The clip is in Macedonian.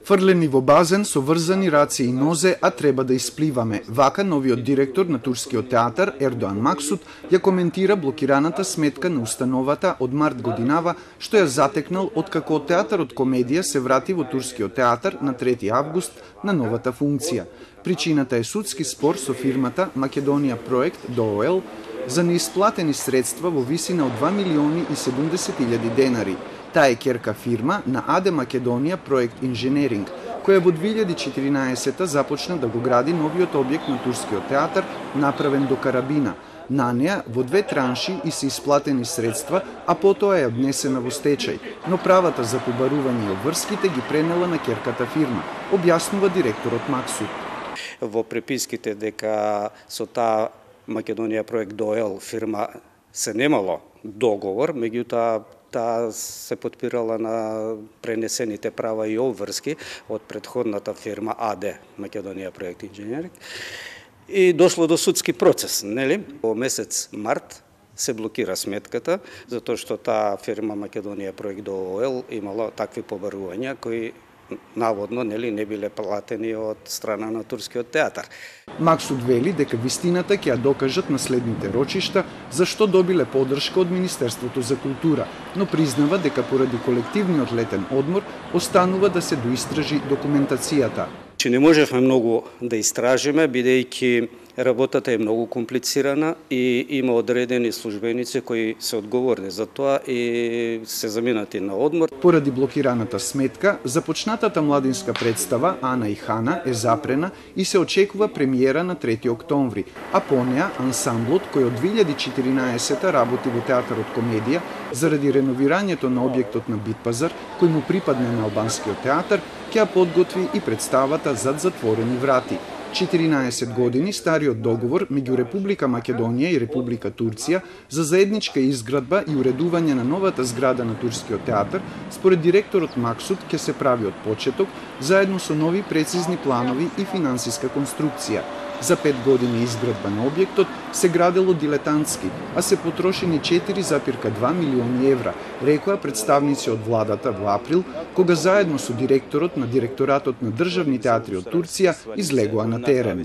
Фрлени во базен со врзани раце и нозе, а треба да испливаме. Вака новиот директор на турскиот театар Ердоан Максут ја коментира блокираната сметка на установата од март годинава, што ја затекнал откако театарот комедија се врати во турскиот театар на 3 август на новата функција. Причината е судски спор со фирмата Македонија проект ДООЛ за неисплатени средства во висина од 2.070.000 денари. Таа е ќерка фирма на АД Македонија проект инженеринг, која во 2014 започна да го гради новиот објект на турскиот театар, направен до карабина. На неа во 2 транши и се исплатени средства, а потоа е однесена во стечај, но правата за побарување и обврските ги пренела на ќерката фирма, објаснува директорот Максут. Во преписките дека со таа Македонија проект ДООЛ фирма се немало договор, меѓутоа таа се потпирала на пренесените права и обврски од претходната фирма АД Македонија проект инженеринг и дошло до судски процес, нели? Во месец март се блокира сметката затоа што таа фирма Македонија проект ДООЛ имала такви побарувања кои наводно не биле платени од страна на турскиот театар. Максут вели дека вистината ќе ја докажат на следните рочишта зашто добиле поддршка од Министерството за култура, но признава дека поради колективниот летен одмор останува да се доистражи документацијата. Не можевме многу да истражиме, бидејќи работата е многу комплицирана и има одредени службеници кои се одговорни за тоа и се заминати на одмор. Поради блокираната сметка, започнатата младинска представа Ана и Хана е запрена и се очекува премиера на 3 октомври, а по неа ансамблот кој од 2014 работи во театарот комедија заради реновирањето на објектот на Битпазар, кој му припадне на албанскиот театар, ќе подготви и представата зад затворени врати. 14 години стариот договор меѓу Република Македонија и Република Турција за заедничка изградба и уредување на новата зграда на турскиот театар, според директорот Максут, ќе се прави од почеток, заедно со нови прецизни планови и финансиска конструкција. За 5 години изградба на објектот се градело дилетантски, а се потрошени 4,2 милиони евра, рекоа представници од владата во април, кога заедно со директорот на Директоратот на државни театри од Турција излегоа на терен.